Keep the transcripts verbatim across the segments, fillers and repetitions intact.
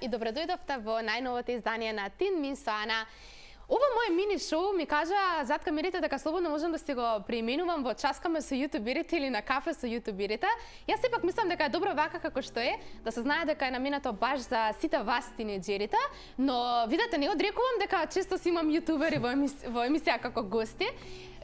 и добре дојдовте во најновото издание на Тин Мин со Ана. Ова моје мини шоу ми кажа зад камерите дека слободно можам да си го преименувам во часкаме со јутуберите или на кафе со јутуберите. Јас сепак мислам дека е добро вака како што е, да се знае дека е наменето баш за сите вас тинеџерите, но видете, не одрекувам дека често си имам јутубери во, емис... во емисија како гости.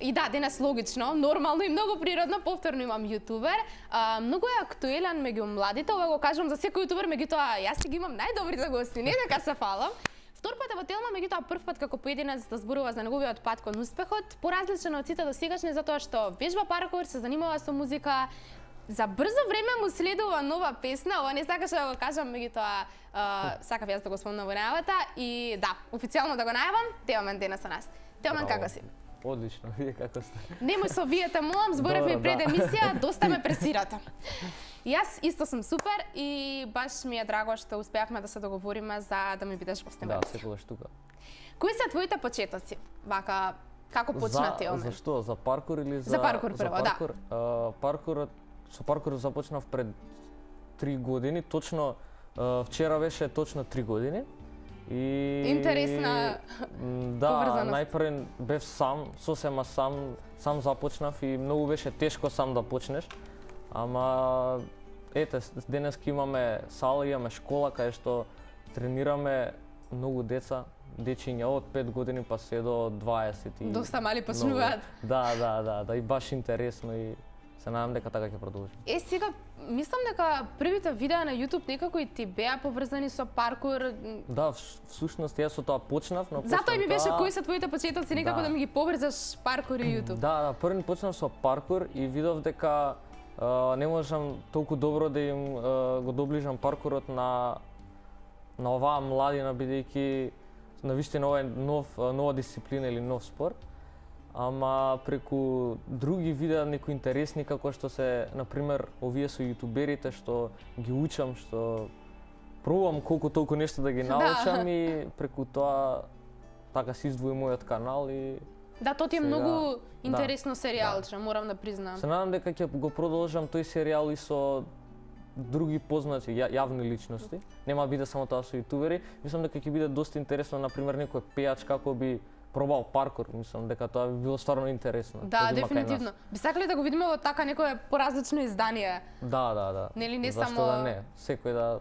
И да, денес логично, нормално и многу природно, повторно имам јутубер. А, многу е актуелен меѓу младите, ова го кажувам за секој јутубер, меѓутоа јас си ги имам најдобрите гости, не дека се фалам. Втор пат е во Телма, меѓутоа прв пат како поединец да зборува за неговиот пат кон успехот, поразличен од сите досегашни затоа што вежба паркур, се занимава со музика. За брзо време му следува нова песна, ова не сакаше да го кажам, меѓутоа сакав јас да го спомнам во најавата и да, официјално да го најавам, Теомен денес со нас. Теомен, како си? Одлично, вие како сте? Немој со вие те молам, зборевме пред емисија, доста ме пресирате. Јас исто сум супер и баш ми е драго што успеавме да се договориме за да ми бидеш гостин. Да, секогаш тука. Кои се твоите почетоци? Вака, како почна Теомен? За што? За паркур или за... За паркур прво, да. Uh, паркурот, со паркурот започнав пред три години, точно uh, вчера беше точно три години. И... Интересна да, поврзаност. најпрв бев сам, сосема сам, сам започнав и многу беше тешко сам да почнеш. Ама ете, денеска имаме сала, имаме школа кај што тренираме многу деца, дечиња од пет години па се до дваесет. И доста мали почнуваат. Да, да, да, да, и баш интересно и се надам дека така ќе продолжи. Е, сега, мислам дека првите видеа на YouTube некако и ти беа поврзани со паркур. Да, всушност јас со тоа почнав, но затоа ми беше кои се твоите почетоци, некако да, да ми ги поврзаш паркур и YouTube. Да, да, први почнав со паркур и видов дека uh, не можам толку добро да им uh, го доближам паркурот на на оваа младина, бидејќи навистина ова е нов, нова дисциплина или нов спорт. Ама преку други видеа некои интересни како што се, например, овие со јутуберите што ги учам, што пробувам колку толку нешто да ги научам да. И преку тоа така се издвои мојот канал и да, тоа ти е сега... многу интересно да, серијалче, да. Морам да признам. Се надам дека ќе го продолжам тој серијал и со други познати ја, јавни личности. Нема да биде само тоа со јутубери. Мислам дека ќе биде доста интересно, например, некој пејач како би пробал паркур, мислам дека тоа би било стварно интересно. Да, дефинитивно. Би сакале да го видиме во така некое поразлично издание. Да, да, да. Нели не зашто само да не, секој да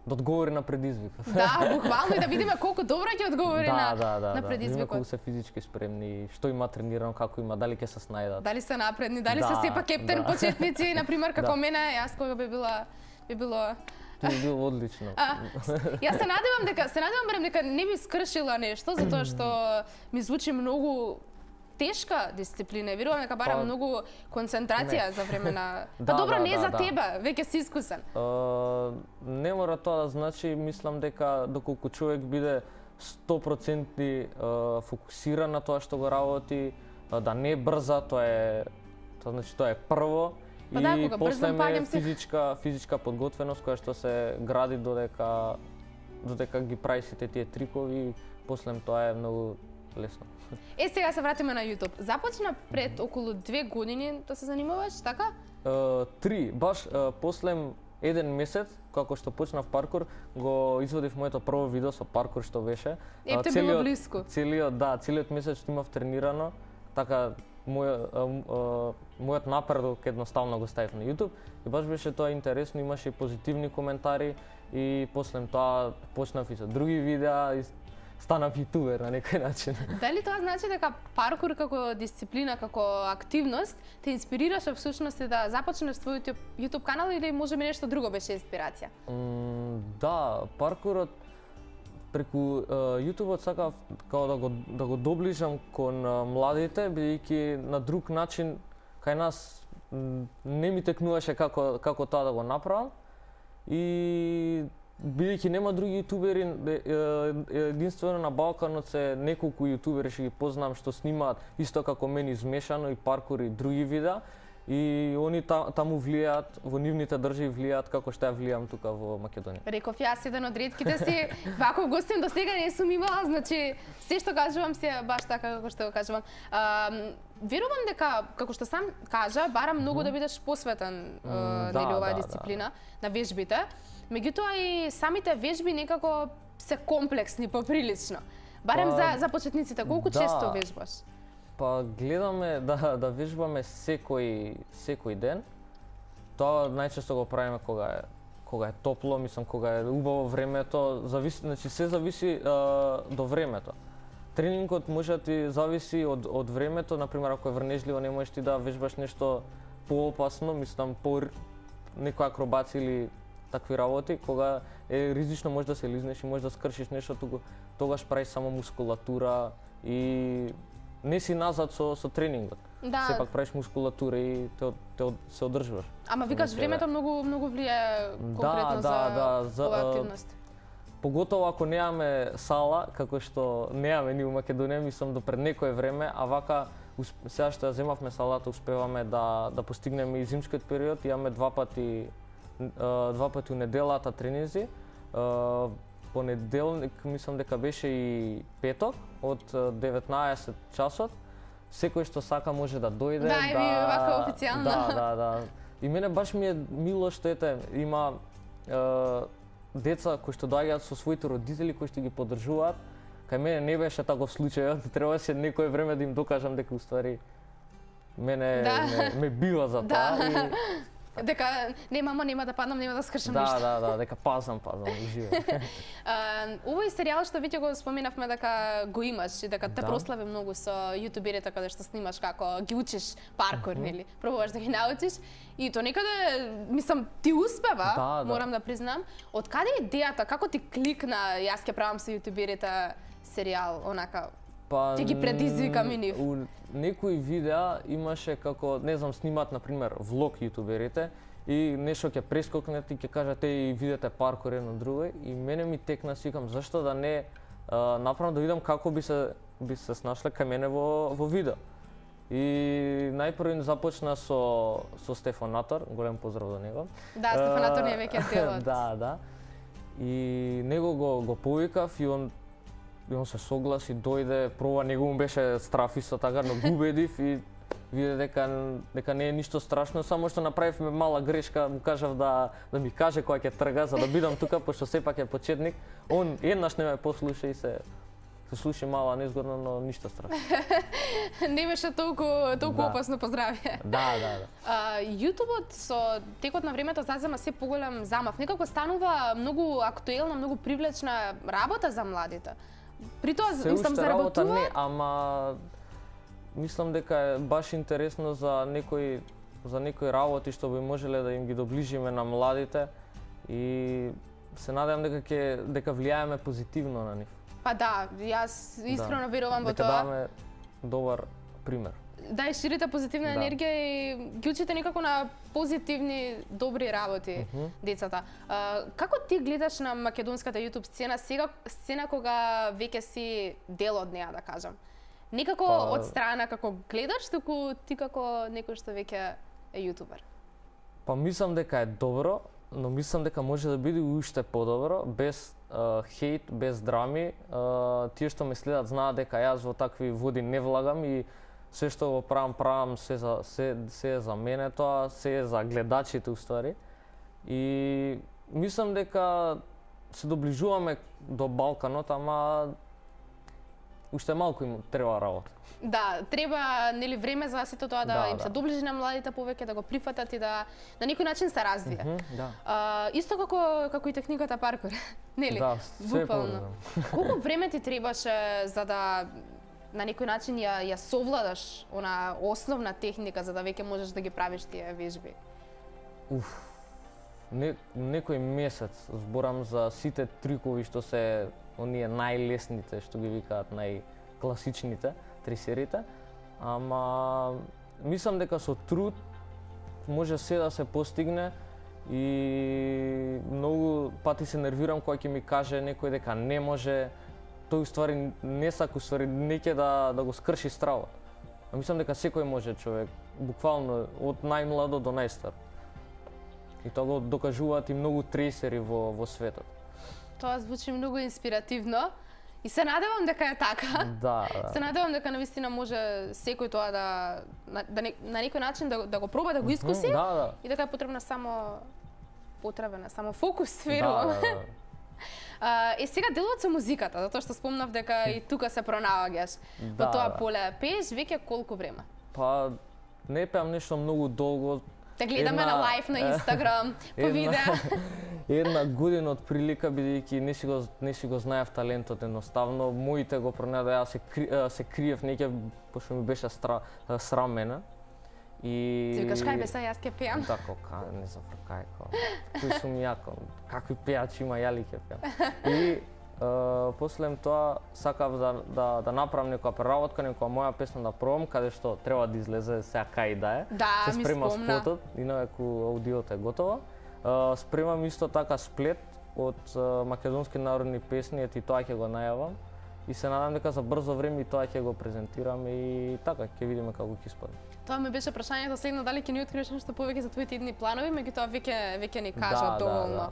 да одговори на предизвикот. Да, буквално и да видиме колку добро ќе одговори да, на да, да, на предизвикот. Да, колку се физички спремни, што има тренирано, како има, дали ќе се снајдат. Дали се напредни, дали да, се сепак кептен да. почетници, на пример како да. мене, јас кога би била би било Тоа би било одлично. А, јас се надевам дека се надевам барем дека не би скршила нешто затоа што ми звучи многу тешка дисциплина. Верувам дека бара па, многу концентрација не. За време на да, а добро да, не да, за да. тебе, веќе си искусен. Uh, не мора тоа да значи, мислам дека доколку човек биде сто проценти uh, фокусиран на тоа што го работи, uh, да не брза, тоа е тоа значи тоа е прво. Па и да, кога брзам паѓам се физичка физичка подготвеност која што се гради додека додека ги прави сите тие трикови, после тоа е многу лесно. Е, сега се вратиме на YouTube. Започна пред околу две години да се занимаваш, така? Uh, три, баш uh, после еден месец, како што почнав паркур, го извадив моето прво видео со паркур што беше. Е, те било блиску. Целиот, да, целиот месец што имав тренирано, така мој, а, а, мојот напредок едноставно го ставив на YouTube и баш беше тоа интересно, имаше и позитивни коментари и после тоа почнав и со други видеа и станав јутубер на некој начин. Дали тоа значи дека паркур како дисциплина, како активност те инспирираше всушност да започнеш својот YouTube канал или може би нешто друго беше инспирација? Mm, да, паркурот преку uh, YouTube-от сакав као да го да го доближам кон uh, младите, бидејќи на друг начин кај нас не ми текнуваше како како тоа да го направам и бидејќи нема други јутубери, единствено на Балканот се неколку јутубери што ги познам што снимаат исто како мене измешано и паркур и други видеа. И они та, таму влијаат, во нивните држави влијаат како што ја влијам тука во Македонија. Реков јас еден од ретките си, ваков гостин до сега не сум имала, значи се што кажувам се баш така како што го кажувам. А, верувам дека како што сам кажа, барам многу да бидеш посветен mm, нели оваа да, дисциплина да. на вежбите. меѓутоа и самите вежби некако се комплексни поприлично. Барем Па, за за почетниците, колку да. често вежбаш? Па гледаме да да вежбаме секој секој ден. Тоа најчесто го правиме кога е кога е топло, мислам кога е убаво времето, зависи, значи се зависи а, до времето. Тренингот може да ти зависи од од времето, например ако е врнежливо не можеш ти да вежбаш нешто поопасно, мислам по некоја акробација или такви работи, кога е ризично може да се лизнеш и може да скршиш нешто, туку тогаш правиш само мускулатура и не си назад со со тренингот. Да. Сепак правиш мускулатура и те, те се одржуваш. Ама викаш Со времето тебе. многу многу влијае конкретно да, за да, за, оваа а, активност. Поготово ако немаме сала, како што немаме ни у Македонија, мислам до пред некое време, а вака сега што ја земавме салата, успеваме да да постигнеме и зимскиот период, имаме два пати два пати у неделата тренинзи. Понеделник мислам дека беше и петок од деветнаесет часот. Секој што сака може да дојде, да, да, и вака официјално. Да, да, да. И мене баш ми е мило што ете има е, деца кои што доаѓаат со своите родители кои што ги поддржуваат. Кај мене не беше таков случај, требаше некое време да им докажам дека уствари мене да. ме, ме бива за тоа да. и дека не мамо нема да паднам, нема да скршам да, ништо. Да, да, да, дека пазам, пазам, уживам. Овој серијал што веќе го споменавме дека го имаш и дека те Да. прослави многу со јутуберите каде што снимаш како ги учиш паркур, Мгм. нели? Пробуваш да ги научиш и то некаде мислам ти успева, Да, да. морам да признам. Од каде е идејата, како ти кликна јас ќе правам со јутуберите серијал, онака Па ќе ги предизвикам и нив? У некои видеа имаше како, не знам, снимат на пример влог јутуберите и нешто ќе прескокнат и ќе кажат еј видете паркур едно друго и мене ми текна сикам зашто да не а, направам да видам како би се би се снашле кај мене во во видео. И најпрво започна со со Стефанатор, голем поздрав до него. Да, Стефанатор не е веќе дел од. Да, да. И него го го повикав и он и он се согласи, дојде, проба, него му беше страф исто така, но го убедив и виде дека дека не е ништо страшно, само што направивме мала грешка, му кажав да да ми каже кога ќе трга за да бидам тука, пошто сепак е почетник. Он еднаш не ме послуша и се се слуши мала незгодно, но ништо страшно. Не беше толку толку Да. опасно, поздравје. Да, да, да. А, јутубот со текот на времето зазема се поголем замав. Некако станува многу актуелна, многу привлечна работа за младите. При тоа, Се мислам, уште работа заработува? не, ама мислам дека е баш интересно за некои за некои работи што би можеле да им ги доближиме на младите и се надевам дека ќе дека влијаеме позитивно на нив. Па да, јас искрено Да. верувам во дека тоа. даваме добар пример. Да, и ширите позитивна Да. енергија и ги учите некако на позитивни, добри работи Мгм. децата. А, како ти гледаш на македонската YouTube сцена сега, сцена кога веќе си дел од неа, да кажам? Некако Па- од страна како гледаш, туку ти како некој што веќе е јутубер. Па мислам дека е добро, но мислам дека може да биде уште подобро, без uh, хейт, без драми. Uh, тие што ме следат знаат дека јас во такви води не влагам и се што го правам, правам се за се се е за мене тоа, се е за гледачите уствари. И мислам дека се доближуваме до Балканот, ама уште малку им треба работа. Да, треба нели време за сето тоа да, Да, им се да. доближи на младите повеќе, да го прифатат и да на некој начин се развие. Мгм, да. А, исто како како и техниката паркур, нели? Да, се е Буквално. поврзано. Колку време ти требаше за да на некој начин ја ја совладаш она основна техника за да веќе можеш да ги правиш тие вежби? Уф. Не, некој месец зборам за сите трикови што се оние најлесните, што ги викаат најкласичните трисерите, ама мислам дека со труд може се да се постигне и многу пати се нервирам кога ќе ми каже некој дека не може, тој уствари не сака, уствари не ќе да да го скрши стравот. А мислам дека секој може човек, буквално од најмладо до најстар. И тоа го докажуваат и многу трейсери во во светот. Тоа звучи многу инспиративно и се надевам дека е така. Да, Се да. надевам дека навистина може секој тоа да на, да не, на некој начин да, да го проба да го искуси Да, да. и дека е потребна само потребен е само фокус, Да, верувам. да, да. А, е сега делот со музиката, затоа што спомнав дека и тука се пронаоѓаш во Да, тоа да. поле. Пееш веќе колку време? Па не пеам нешто многу долго. Те гледаме Една- на лайв на Инстаграм, по една- видеа. Една година од прилика, бидејќи не си го не си го знаев талентот едноставно, моите го пронајдоа, јас се кри, а, се криев неќе пошто ми беше стра, а, срам мене. И Ти викаш кај бе сега јас ќе пеам. Да, кока, не зафркај, ко. Кој сум ја, ко, какви пеачи има, ја ли ќе пеам. И е, после тоа сакав да, да, да направам некоја преработка, некоја моја песна да пробам, каде што треба да излезе сега кај да е. Да, се ми спрема спомна. спотот, инаку аудиото е готово. Е, спремам исто така сплет од е, македонски народни песни, eti тоа ќе го најавам. И се надам дека за брзо време и тоа ќе го презентирам и така ќе видиме како ќе испадне. Тоа ми беше прашањето следно, дали ќе ни откриеш нешто повеќе за твоите идни планови, меѓутоа веќе веќе ни кажа Да, да, доволно. да.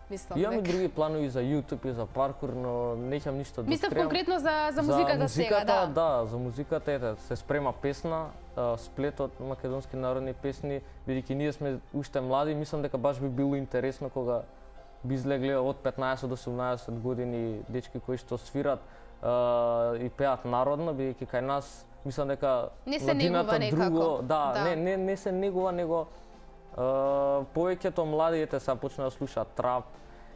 Мислам Имам и дека. други планови за YouTube и за паркур, но неќам ништо да Мислам откриам. конкретно за за музиката, за сега, музиката, да. да, за музиката ете се спрема песна, а, сплет од македонски народни песни, бидејќи ние сме уште млади, мислам дека баш би било интересно кога би излегле од петнаесет до седумнаесет години дечки кои што свират а, и пеат народно, бидејќи кај нас мислам дека Не се младината негува некако. друго, да, Да. не не не се негува, него а, повеќето младите се почнаа да слушаат трап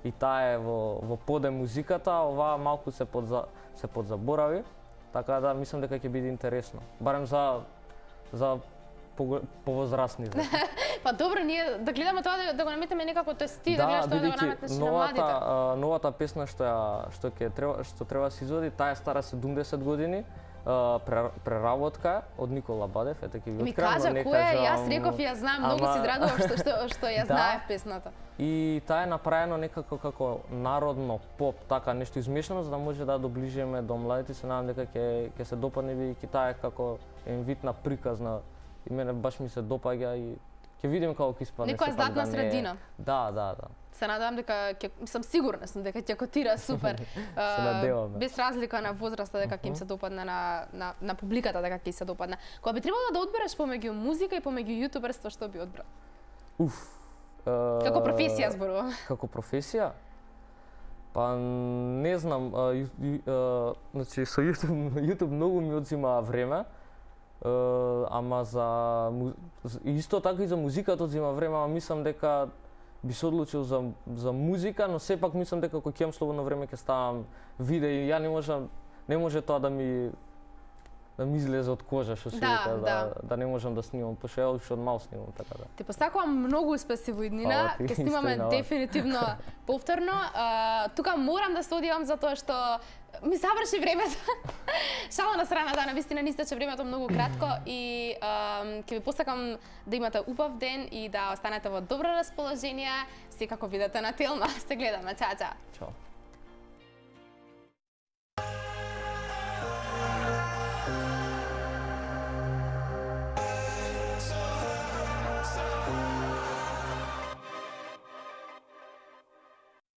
и таа е во во поде музиката, оваа малку се подза се подзаборави, така да мислам дека ќе биде интересно. Барем за за пого- повозрасните. Па добро, ние да гледаме тоа да, да го наметнеме некако тоест ти да, гледаш тоа да го наметнеш и на новата младите. а, новата песна што ја што ќе треба што треба да се изводи, таа е стара седумдесет години. Uh, преработка е од Никола Бадев, ете ќе ви Ми откривам, кажа но не која е, јас кажам, реков ја знам, многу ама- се израдував што што што ја Да. знаев песната. И таа е направено некако како народно поп, така нешто измешано за да може да доближиме до младите. Се надам дека ќе ќе се допадне бидејќи таа е како еден вид на приказна и мене баш ми се допаѓа и ќе видиме како ќе испадне. Некоја сепак златна да не е- средина. Да, да, да. Се надевам дека ќе сум сигурна сум дека ќе котира супер. Се надеваме. Без разлика на возраста дека ќе им се допадне на на на публиката дека ќе се допадне. Кога би требало да одбереш помеѓу музика и помеѓу јутуберство, што би одбрал? Уф. е, Како професија зборувам. Како професија? Па не знам, а, ю, ю, а, значи со YouTube, YouTube многу ми одзима време. Е, ама за му- з- исто така и за музиката одзима време, ама мислам дека би се одлучил за за музика, но сепак мислам дека кога ќе имам слободно време ќе ставам видеи. Ја не можам не може тоа да ми да ми излезе од кожа, што се Да, вика, да, да. да не можам да снимам, пошто ја уште од мал снимам, така да. Ти посакувам многу успеси во иднина. Фала ти, Ќе исто и снимаме на вас. дефинитивно повторно. А, тука морам да се одивам затоа што ми заврши времето. Само на страна да, навистина ни истече времето многу кратко и а, ќе ви посакам да имате убав ден и да останете во добро расположение. Секако видете на Телма. Се гледаме. Чао, чао. Чао.